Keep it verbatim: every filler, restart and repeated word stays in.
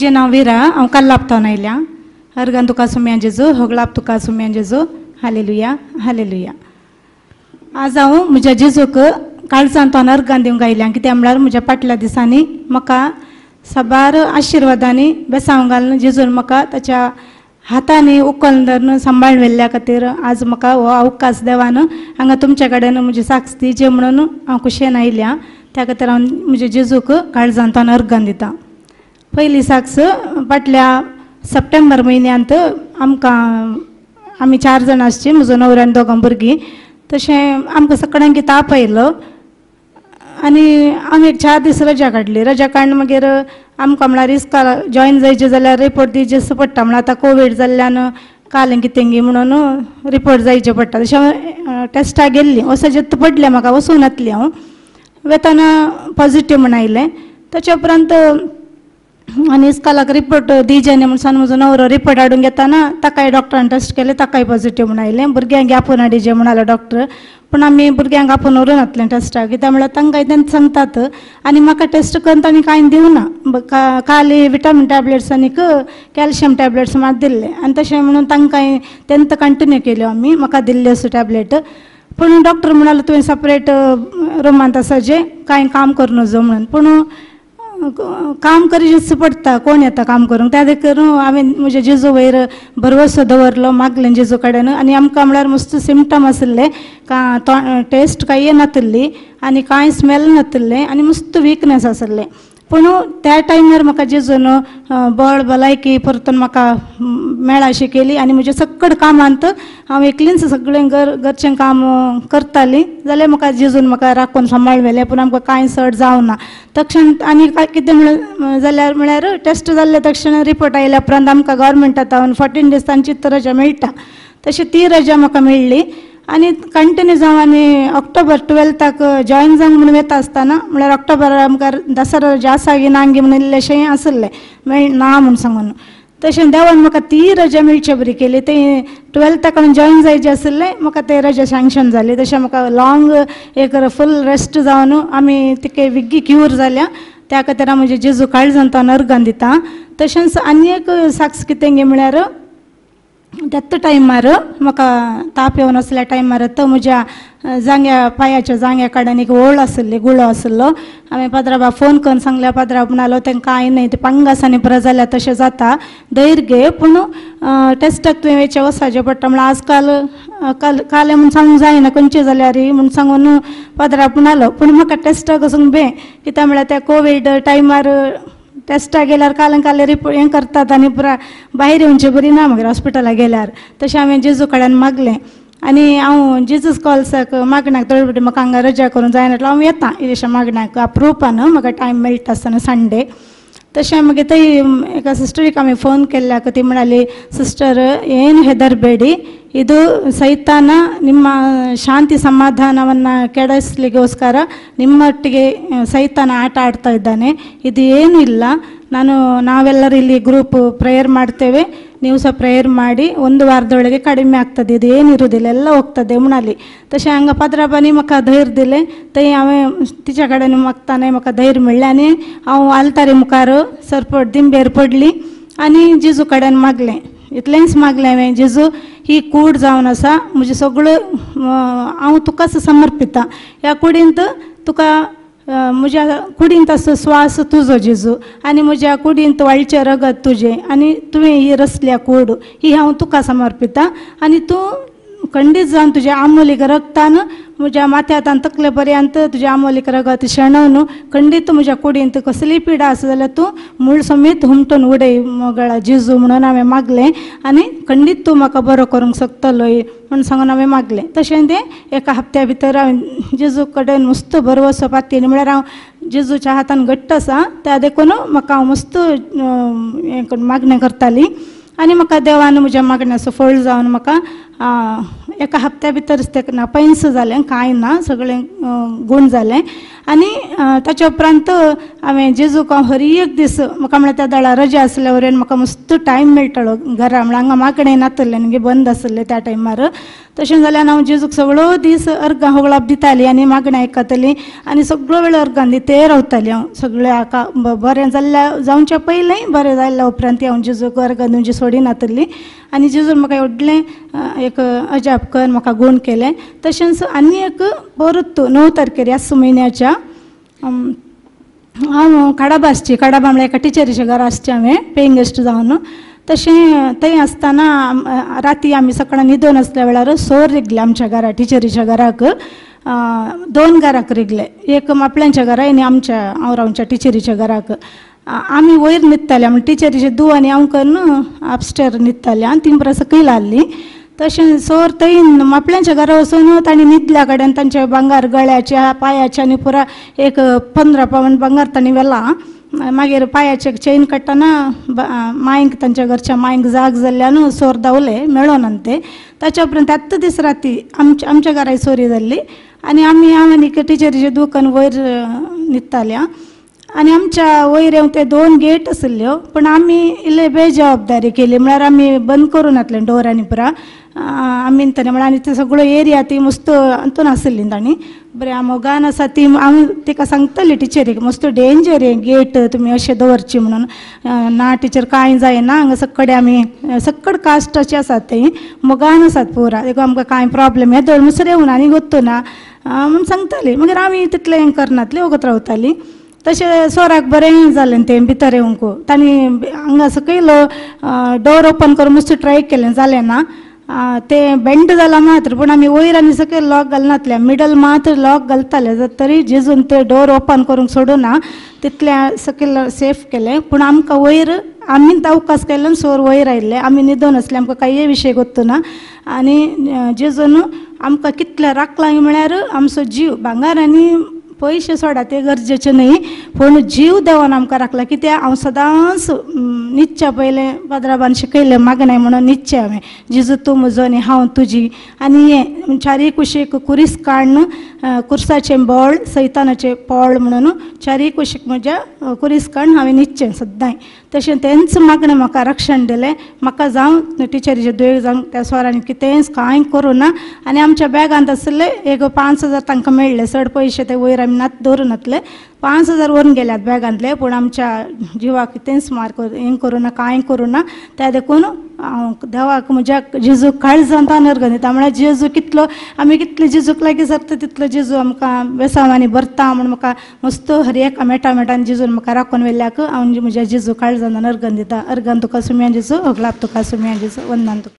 म्हजें नांव विरा, हांव कल्लापतावन आयल्या. अर्गान तुका सुम्या जेजू, होगळाप तुका सुम्या जेजू. Hallelujah hallelujah. आज हांव म्हज्या जेजूक काळजांत अर्गान दिवंक आयल्या, कित्याक म्हळ्यार म्हज्या फाटल्या दिसांनी म्हाका साबार आशिर्वादांनी बेसांव घालून जेजून म्हाका ताच्या हातांनी उखल धरून सांबाळून व्हेल्ल्या खातीर आज म्हाका हो अवकाश देवान हांगा तुमच्या कडेन म्हजी साक्ष दिवची म्हणून हांव खुशयेन आयल्या. त्या खातीर हांव म्हज्या जेजूक काळजांत अर्गान दिता. पयली साक्ष, फाटल्या सप्टेंबर म्हयन्यांत आमकां आमी चार जाणां आसची, म्हजो न्हवरो आनी दोगां भुरगीं. तशें आमकां सगळ्यांक ताप आयलो आनी आमी एक चार दीस रजा काडली. रजा काडून मागीर आमकां म्हळ्यार इस्काल जॉयन जायचें जाल्यार रिपोर्ट दिवचें पडटा, म्हळ्यार आतां कोवीड जाल्ल्यान काल कितें म्हणून रिपोर्ट जायचे पडटा. तशें टेस्टाक गेल्ली, वचत पडलें म्हाका, वचूंक नासली हांव. वेताना पॉझिटीव म्हण आयलें. ताच्या उपरांत आनी इस्कालाक रिपोर्ट दिवचे न्ही म्हण सांगून म्हजो न्हवरो रिपोर्ट हाडून घेताना ताकाय डॉक्टरान टेस्ट केलें, ताकाय पॉझिटीव म्हण आयलें. भुरग्यांक आपोवन हाडिचें म्हणालो डॉक्टर, पूण आमी भुरग्यांक आपोवन व्हरूं नासलें टेस्टाक, कित्याक म्हळ्यार तांकां तें सांगतात आनी म्हाका टेस्ट करून तांणी कांय दिवना. काली विटामीन टॅबलेट्स आनीक कॅल्शियम टॅबलेट्स मात दिल्ले आनी तशें म्हणून तांकां तेंत कंटिन्यू केल्यो आमी, म्हाका दिल्ल्यो असो टॅबलेट. पूण डॉक्टर म्हणालो तुवें सेपरेट रुमांत आसा जे कांय काम करूं नजो म्हणून. पूण काम करीच पडटा, कोण येता काम करूंक, त्या देखून हांवें म्हज्या जेजू वयर भरवसो दवरलो, मागलें जेजू कडेन. आनी आमकां म्हळ्यार मस्त सिमटम आशिल्ले, का तो टेस्ट कांय येनातिल्ली आनी कांय स्मेल नातिल्लें आनी मस्त विकनेस आशिल्लें. पूण त्या टायमार म्हाका जेजून बळ भलायकी परतून म्हाका मेळाशी केली आनी म्हज्या सगळें कामांत हांव एकलीच सगळें घर घरचें काम करतालीं जाल्यार म्हाका जेजून म्हाका राखून सांबाळ व्हेलें. पूण आमकां कांय चड जावना तक्षण. आनी कितें म्हळ्यार जाल्यार म्हळ्यार टेस्ट जाल्ले तक्षण रिपोर्ट आयल्या उपरांत आमकां गव्हर्मेंटा तावन फोर्टीन दीस तांची रजा मेळटा, तशी ती रजा म्हाका मेळ्ळी. आनी कंटिन्यू जावन आनी ऑक्टोबर टुवेल्थाक जॉयन जावंक म्हणून वता आसतना म्हळ्यार ऑक्टोबर आमकां दसरो रजा आसा गी ना गी म्हणून इल्लेशें आसलें मेळ ना म्हूण सांगून. तशें देवान म्हाका ती रजा मेळचे बरी केली. ते टुवेल्थाक हांवें जॉयन जायचें आशिल्लें, म्हाका ते रजा सँक्शन जाली. तशें म्हाका लॉंग एक फूल रेस्ट जावन आमी तिके विग्गी क्यूर जाल्या. त्या खातीर हांव म्हजे जेजू काळजांत अर्गान दिता. तशेंच आनी एक साक्ष कितें गे म्हळ्यार त्याच टायमार म्हाका ताप येवन आसल्या टायमार तो म्हज्या जांग्या पांयाच्या जांग्या कडेन एक ओळ आशिल्ली, गुळो आशिल्लो. हांवें पाद्राबा फोन करून सांगल्या, पाद्राब म्हणालो तें कांय न्हय, तें पंगासांनी पुरो जाल्यार तशें जाता, धैर्य घे, पूण टेस्टाक तुवें वयचें वचपाचें पडटा, म्हळ्यार आज काल काल कालें म्हूण सांगूंक जायना खंयचें जाल्यार म्हूण सांगून पाद्राब म्हणालो. पूण म्हाका टेस्टाक वचूंक बे, कित्याक म्हळ्यार त्या कोवीड टायमार टेस्टाक गेल्यार काल काल रिपोर्ट हें करतात आनी पुरा भायर येवचे बरी ना मागीर हॉस्पिटलाक गेल्यार. तशें हांवें जेजू कडेन मागलें आनी हांव जेजूस कॉल्साक मागण्याक थोडे फावटी म्हाका हांगा रजा करूंक जायना हांव येता इल्लेशें मागण्याक अप्रुपान म्हाका टायम मेळटा आसतना संडे. तशें मागीर थंय एका सिस्टरीक आमी फोन केल्ल्याक ती म्हणाली, सिस्टर ಏನು ಹೆದರಬೇಡಿ, ಇದು ಸೈತಾನ ನಿಮ್ಮ ಶಾಂತಿ ಸಮಾಧಾನವನ್ನು ಕೆಡಿಸ್ಲಿಕ್ಕೋಸ್ಕರ ನಿಮ್ಮೊಟ್ಟಿಗೆ ಸೈತಾನ ಆಟ ಆಡ್ತಾ ಇದ್ದಾನೆ, ಇದು ಏನೂ ಇಲ್ಲ, ನಾನು ನಾವೆಲ್ಲರೂ ಇಲ್ಲಿ ಗ್ರೂಪ್ ಪ್ರೇಯರ್ ಮಾಡ್ತೇವೆ, ನೀವು ಸಹ ಪ್ರೇಯರ್ ಮಾಡಿ, ಒಂದು ವಾರದೊಳಗೆ ಕಡಿಮೆ ಆಗ್ತದೆ, ಇದು ಏನಿರುವುದಿಲ್ಲ, ಎಲ್ಲ ಹೋಗ್ತದೆ म्हणाली. तशें हांगा पाद्राबांनी म्हाका धैर्य दिलें, थंय हांवें तिच्या कडेन मागताना म्हाका धैर्य मेळ्ळें आनी हांव आल्तारी मुखार सरपट दिंबेर पडली आनी जेजू कडेन मागलें. इतलेंच मागलें हांवें, जेजू ही कूड जावन आसा म्हजें सगळें हांव तुकाच समर्पिता, ह्या कुडींत तुका म्हज्या कुडींत आसो स्वास तुजो जेजू आनी म्हज्या कुडींत वाळचें रगत तुजें आनी तुवें ही रसल्या कूड ही हांव तुका समर्पिता आनी तूं खंडीत जावन तुज्या आमोलीक रगतान म्हज्या माथ्यांत तकले पर्यंत तुज्या आमोलीक रगत शेणोवन खंडीत म्हज्या कुडींत कसलीय पिडा आसा जाल्यार तूं मूळ समेत हुमटून उडय मोगळा जेजू म्हणून हांवें मागलें आनी खंडीत तूं म्हाका बरो करूंक शकतलोय म्हूण सांगून हांवें मागलें. तशें तें एका हप्त्या भितर हांवें जेजू कडेन मस्त भरवसो पातयेन म्हळ्यार हांव जेजूच्या हातान घट्ट आसा त्या देखून म्हाका हांव मस्त हें मागणें करताली आनी म्हाका देवान म्हज्या मागण्याचो फळ जावन म्हाका एका हप्त्या भितरच तें ना पैंस जालें, कांय ना, सगळें गूण जालें. आनी ताच्या उपरांत हांवें जेजूक हांव हर एक दीस म्हाका म्हळ्यार त्या दळा रजा आसल्या वरवीं म्हाका मस्त टायम मेळटालो घरा, म्हळ्यार हांगा मागणें नातलें न्ही, बंद आसलें त्या टायमार. तशें जाल्यार हांव जेजूक सगळो दीस अर्गां होगळाप दितालीं आनी मागणें आयकतालीं आनी सगळो वेळ अर्गां दिते रावतालीं हांव सगळ्या हाका. बरें जाल्ल्या जावच्या पयलें बरें जाल्ल्या उपरांत हांव जेजूक अर्गां दिवची सोडिनातली. आनी जेजून म्हाका व्हडलें एक अजाप कर म्हाका गूण केलें. तशेंच आनी एक परत णव तारखेर ह्याच म्हयन्याच्या हांव काडाबा आसची, काडाबा म्हळ्यार एका टिचरीच्या घरा आसचें हांवें पेइंग गेस्ट जावन. तशें थंय आसतना राती आमी सकाळीं न्हिदून आसल्या वेळार सोर रिगले आमच्या घरा, टिचरीच्या घराक दोन घराक रिगले, एक मापल्यांच्या घरा आनी आमच्या हांव रावच्या टिचरीच्या घराक. आमी वयर न्हिदताले, म्हणजे टिचरीचे धूव आनी हांव करून अपस्टेर न्हिदतालें आनी ती पुरा सकयल आहली. तशें सोर थंय मापल्यांच्या घरा वचून तांणी न्हिदल्या कडेन तांचे भांगर गळ्याच्या पांयाच्या आनी पुरा एक पंदरा पावन भांगर तांणी व्हेलां. मागीर पांयाचे चेन काडटना मांयक तांच्या घरच्या मांयक जाग जाल्ल्यान सोर धांवले मेळोना ते. ताच्या उपरांत त्याच दीस राती आमच्या आमच्या घराय चोरी जाल्ली आनी आमी हांव आनी टिचरीचे दुकान वयर न्हिदताले आनी आमच्या वयर येवन ते दोन गेट आशिल्ल्यो, पूण आमी इल्ले बेजबाबदारी केली, म्हळ्यार आमी बंद करूं नासलें डोर आनी पुरा आमी तरी म्हळ्यार आनी ते सगळो एरिया ती मस्त हातून आशिल्ली तांणी. बरें मोगान आसा ती हांव तिका सांगतली टिचरीक मस्त डेंजर हें गेट तुमी अशें दवरची म्हणून. ना टिचर कांय जायना, हांगा सकडे आमी सकड कास्टाचे आसात थंय मोगान आसात पुरा, देखून आमकां कांय प्रोब्लेम येदोळ म्हणसर येवन आनी गोत्तो ना म्हूण सांगताली. मागीर आमी तितलें हें करनातलें, वगत रावतालीं. तशें सोराक बरें जालें तें भितर येवंक, तांणी हांगा सकयल डोर ओपन करून मस्त ट्राय केलें, जालें ना तें बेंड जालां मात्र, पूण आमी वयर आनी सकयल लॉक घालनातले, मिडल मात्र लॉक घालताले, तरी जेजून ते डोर ओपन करूंक सोडूना तितलें सकयल सेफ केलें. पूण आमकां वयर आमी अवकाश केल्ल्यान सोर वयर आयिल्ले, आमी न्हिदून आसले, आमकां कांय विशय गोत्तो ना. आनी जेजून आमकां कितलें राखलां म्हळ्यार आमचो जीव भांगर आनी पयशे सोडा ते गरजेचे न्ही, पूण जीव देवान आमकां राखला. कित्याक हांव सदांच न्हिदच्या पयलें पाद्राबान शिकयलें मागणें म्हणून न्हिदचें हांवें, जेजू तूं म्हजो आनी हांव तुजी. आनी हें चारी कुशीक कुरीस काडून कुर्साचें बळ सैतानाचें पोळ म्हणून चारी कुशीक म्हज्या कुरीस काडून हांवें न्हिदचें सद्दांय. तशें तेंच मागणें म्हाका रक्षण दिलें, म्हाका जावं टिचरीचे दुयेंत जावं त्या स्वरांनी कितेंच कांय करूं ना. आनी आमच्या बॅगांत आशिल्ले एक पांच हजार तांकां मेळ्ळे, चड पयशे ते वयर आमी नात दवरून नातले, पांच हजार व्हरून गेल्यात बॅगांतले, पूण आमच्या जिवाक कितेंच मार हें करूं ना, कांय करूं ना. त्या देखून हांव देवाक म्हज्या जेजूक काळजांत अर्गां दिता, म्हळ्यार जेजू कितलो आमी कितले जेजूक लागीं सरता तितलो जेजू आमकां बेसांवांनी भरता म्हूण म्हाका मस्त हर एका मेटा मेटान जेजून म्हाका राखून व्हेल्ल्याक हांव म्हज्या जेजू काळजांत अर्गां दिता. अर्गां तुका सुम्या जेजू, होगलाप तुका सुम्या जेजू, वंदन तुका.